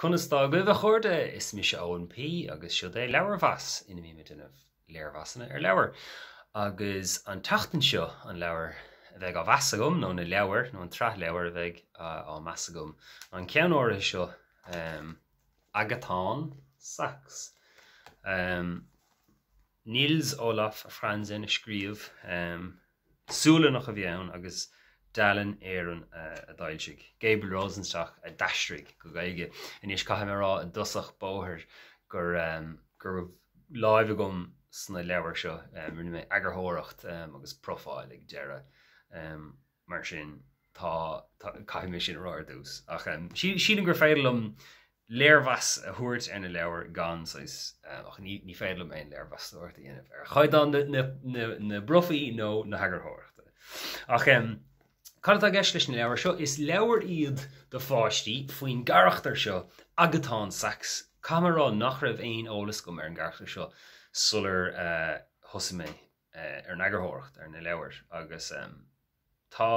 Conas tá agaibh, a chairde? Is mise Eoin P agus seod é Leabharmheas, ina mbím ag déanamh léirmheasanna ar leabhair. Agus an tseachtain seo, an leabhar a bheidh á mheas agam, nó na leabhair, nó an tsraith leabhar a bheidh á meas agam, ná an ceann áirithe seo, Agatán Sax. Nils Olof Franzén a scríobh. Sualannach a bhí ann agus Dalen Éireann a d'fhoilsigh. Gabriel Rosenstock a d'aistrigh go Gaeilge. Anois caithfidh mé a rá i dtosach bóthair go raibh láimh agam sna leabhair seo. Rinne mé eagarthóireacht agus profáil ag deireadh. Mar sin, tá, caithfidh mé sin a rá ar dtús. Ach sílim gur féidir liom léirmheas a thabhairt ar na leabhair gan saghas, ach ní féidir liom aon léirmheastóireacht a dhéanamh ar chaighdeán na bprofaí nó na heagarthóireachta. Ach cad atá i gceist leis na leabhair seo? Is leabhair iad do pháistí faoin gcarachtar seo, Agatán Sax. Caithfidh mé a rá nach raibh aon eolas agam ar an gcarachtar seo sular thosaigh mé ar an eagarthóireacht ar na leabhair agus Tá,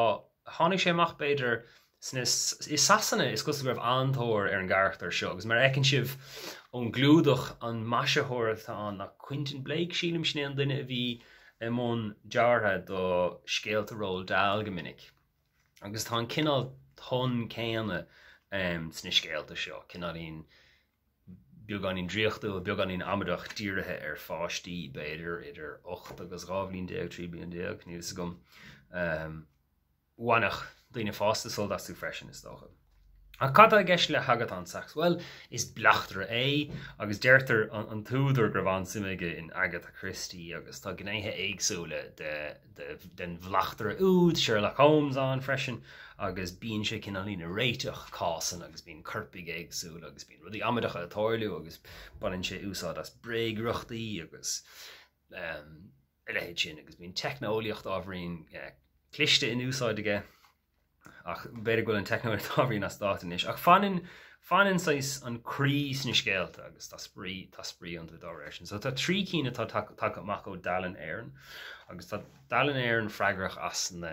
tháinig sé amach b'fhéidir sna, i Sasana is cosúil go raibh an-tóir ar an gcarachtar seo agus mar a fheiceann sibh ón gclúdach an maisitheoir atá ann ná Quentin Blake sílim, sin é an duine a bhí i mbun deartha do scéalta Roald Dahl go minic. Agus tá an cineál ton céanna sna scéalta seo, cineáilín beagáinín draíochtúil, beagáinín amaideach, dírithe ar pháistí, b'fhéidir, idir 8 agus 12 bhliain, 13 bliain, níl a fhios agam. Bhainfeadh daoine fásta sult astu freisin, is dócha. Ach cad tá i gceist le hAgatán Sax? Bhuel, is bleachtaire é, agus deirtear an t-údar go raibh an-suim aige in Agatha Christie agus tá gnéithe éagsúla de den bhleachtaire úd, Sherlock Holmes, ann freisin agus bíonn sé cineáilín ag réiteach cásanna agus bíonn coirpigh éagsúla agus bíonn rudaí amaideacha ag tarlú agus baineann sé úsáid as bréagriochtaí agus a leithéid sin agus bíonn teicneolaíocht ábhairín cliste in úsáid aige. Ach b'fhéidir go bhfuil an teicneolaíocht ábhairín as dáta anois. Ach fanann, fanann saghas an croí sna scéalta agus tá spraoi, tá spraoi iontu dá réir sin. So tá 3 cinn atá tagtha amach ó Dalen Éireann agus tá Dalen Éireann freagrach as na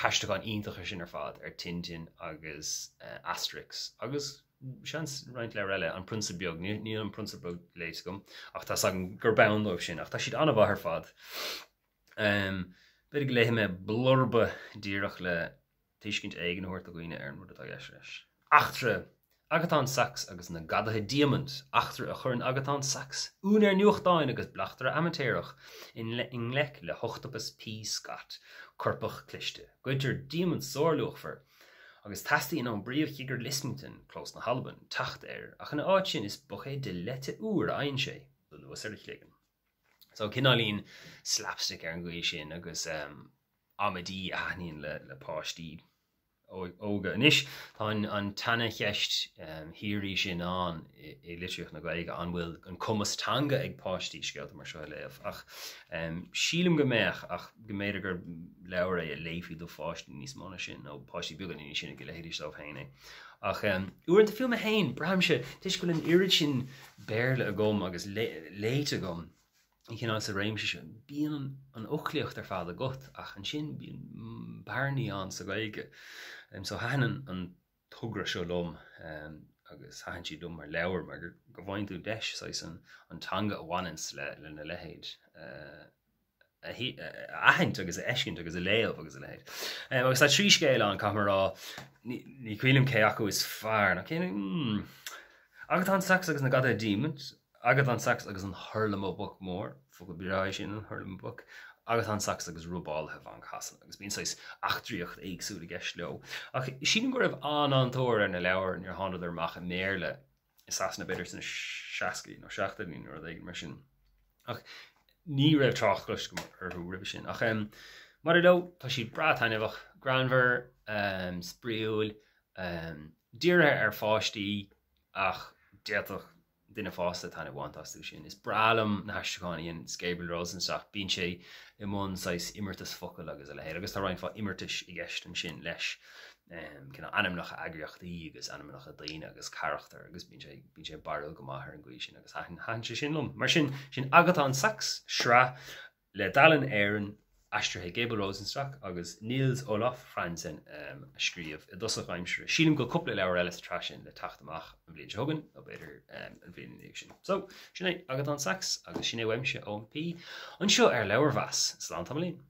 haistriúcháin iontacha sin ar fad ar Tintin agus Asterix agus seans roinnt leabhar eile, An Prionsa Beag, níl An Prionsa Beag léite agam ach tá 's agam gurb ann dóibh sin ach tá siad an-mhaith ar fad. B'fhéidir go léifidh mé blurba díreach le tuiscint éigin a thabhairt do dhaoine ar an rud atá i gceist leis. Eachtra Agatán Sax agus na Gadaithe Diamant, eachtra a chuireann Agatán Sax, úinéir nuachtáin agus bleachtaire amaitéarach, i ngleic le hOchtapas P. Scott, coirpeach cliste. Goidtear diamant sárluachmhar, agus teastaíonn ón bPríomh-Chigire Lismington, Clós na hAlban, teacht air, ach ina áit sin is buicéad de leite úr a fhaigheann sé, anuas ar a chloigeann. So cineáilín slapstick ar an gcaoi sin agus amaidí a thaitníonn le páistí óga. Anois tá an tseana-cheist shíoraí sin ann i litríocht na Gaeilge, an bhfuil an cumas teanga ag páistí scéalta mar seo a léamh? Ach sílim go mbeadh, ach go mb'fhéidir gur leabhar é a léifí do pháistí níos mó ná sin, nó páistí beaga níos sine go léifidís dóibh féin é. Ach uaireanta fiú mé féin, braithimse, toisc go bhfuil an oiread sin Béarla agam agus léite agam an cineál sa réimse seo, bíonn an fhoclaíocht ar fad agat ach ansin bíonn bearnaí ann sa Ghaeilge. So thaitin an togra seo liom agus thaitin siad liom mar leabhair mar go bhfaigheann tú deis saghas an teanga a bhaineanns lena leithéid a aithint agus a fheiscint agus a léamh agus a leithéid. Agus tá 3 scéal ann, caithfidh mé a rá, ní cuimhin liom cé acu is fearr, nó cé, hmm, Agatán Sax agus na Gadaithe Diamaint, Agatán Sax agus an Hurlamaboc Mór, focal breá é sin, an Hurlamaboc, Agatán Sax agus Robálaithe Bhanc Shasana, agus bíonn saghas eachtraíocht éagsúil i gceist leo. Ach sílim go raibh an-an-tóir ar na leabhair nuair a thánadar amach i mBéarla i Sasana b'fhéidir sna seascaidí nó seachtóidí nó rud éigin mar sin. Ach ní raibh trácht cloiste agam orthu roimhe sin. Ach maidir leo, tá siad breá taitneamhach, greannmhar, spraíúil, dírithe ar pháistí ach d'fhéadfadh duine fásta taitneamh a bhaint astu sin. Is breá liom na haistriúcháin a dhein Gabriel Rosenstock, bíonn sé i mbun saghas imeartas focal agus a leithéid, agus tá roinnt mhaith imeartais i gceist ansin leis, cineál ainmneacha eagraíochtaí agus ainmneacha daoine agus carachtar agus bíonn sé, bíonn sé barrúil go maith ar an gcaoi sin agus thaitin, thaitin sé sin liom. Mar sin, sin Agatán Sax, sraith le Dalen Éireann. Aistrithe ag Abel Rosenstock agus Nils Olof Franzén a scríobh i dtosach aimsire. Sílim go bhfuil cúpla leabhar eile sa tsraith sin le teacht amach an bhliain seo chugainn, nó b'fhéidir an bhliain ina dhiaidh sin. So, sin é Agatán Sax agus sin é uaimse, Eoin P. Anseo ar Leabharmheas. Slán tamaillín.